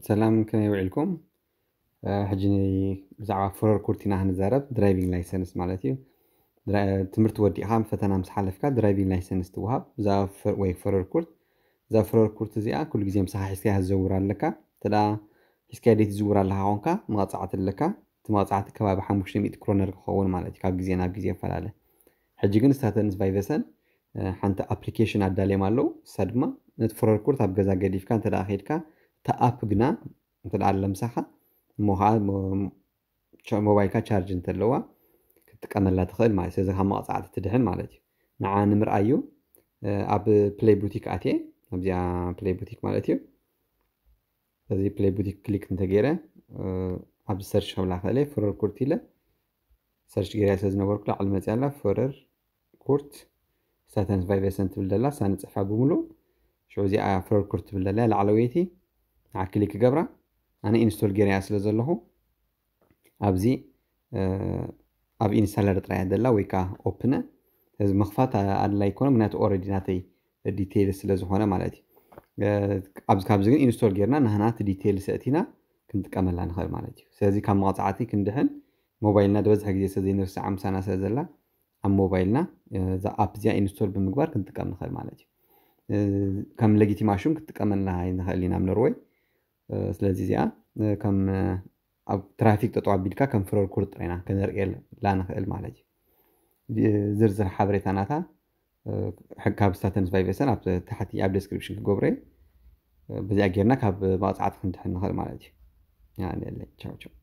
ሰላም፣ ከመይ ውዒልኩም? ሕጂ ብዛዕባ ፍረር ኩርት ኢና ክንዛረብ፣ ድራይቪንግ ላይሰንስ ማለት እዩ። ትምህርቲ ወዲእኻ ፈተና ምስ ሓለፍካ ድራይቪንግ ላይሰንስ ትወሃብ። ወይ ፍረር ኩርት፣ እዛ ፍረር ኩርት እዚኣ ኩሉ ግዜ ምሳኻ ሒዝካያ ክትዘውር ኣለካ። እንተ ሒዝካያ ደይ ትዝውር ኣለካ ኾንካ መቕፃዕቲ ኣለካ። እቲ መቕፃዕቲ ከባቢ ሓሙሽተ ሚእቲ ክሮነር ክኸውን ማለት እዩ፣ ካብ ግዜ ናብ ግዜ ይፈላለ። ሕጂ ግን ስታተንስ ቫይቨሰን ሓንቲ ኣፕሊኬሽን ኣዳልዮም ኣለዉ። እሳ ድማ ነቲ ፍረር ኩርት ኣብ ገዛ ገዲፍካ እንተ ኸድካ፣ እታ ኣፕ ግና እንተ ኣለምሳኻ እሞ ከዓ ሞባይልካ ቻርጅ እንተለዋ ክትጥቀመላ ትኽእል ማለት እዩ። ስለዚ ካብ መቕፃዕቲ ትድሕን ማለት እዩ። ንዓ ንምርኣዩ ኣብ ፕሌይ ቡቲክ ኣትየ፣ ኣብዚኣ ፕሌይ ቡቲክ ማለት እዩ። እዚ ፕሌይ ቡቲክ ክሊክ እንተገይረ ኣብዚ ሰርች ክብላ ክእለ ፍረር ኩርት ኢለ ሰርች ገይራ ስለ ዝነበርኩ ላዕሊ መፅያ ኣላ። ፍረር ኩርት ስታተንስ ቫይቨሰን ትብል ደላ እሳ ንፅሕፋ ብምሉእ ሽዑ እዚኣ ፍረር ኩርት ትብል ደላ ላዕለወይቲ ንዓ ክሊክ ገብራ። ኣነ ኢንስቶል ገይረያ ስለ ዘለኹ ኣብዚ ኣብ ኢንስታለር ጥራያ ደላ ወይ ከዓ ኦፕነ። እዚ ምኽፋት ኣድላይ ይኮነ፣ ምክንያቱ ኦረዲ ናተይ ዲቴይል ስለ ዝኾነ ማለት እዩ። ኣብዚ ካብዚ ግን ኢንስቶል ጌርና ናህና እቲ ዲቴይል ሰእቲና ክንጥቀመላ ንኽእል ማለት እዩ። ስለዚ ካብ መቕፃዕቲ ክንድሕን ሞባይልና ዝበዝሐ ግዜ ስለ ዘይንርስዓ ምሳና ስለ ዘላ ኣብ ሞባይልና እዛ ኣፕ እዚኣ ኢንስቶል ብምግባር ክንጥቀም ንኽእል ማለት እዩ። ከም ለጊቲማሹም ክትጥቀመልና ንኽእል ኢና ኣብ ኖርወይ። ስለዚ እዚኣ ከም ኣብ ትራፊክ ጠጠው ኣቢልካ ከም ፍረር ኩርት ጥራይና ከነርእየላ ንኽእል ማለት እዩ። ዝርዝር ሓበሬታ ናታ ካብ ስታተንስ ቫይቨሰን ኣብ ታሕቲ ኣብ ዴስክሪፕሽን ክገብረ። በዚኣ ጌርና ካብ መቕፃዕቲ ክንድሕን ንኽእል ማለት እዩ። ቻው ቻው።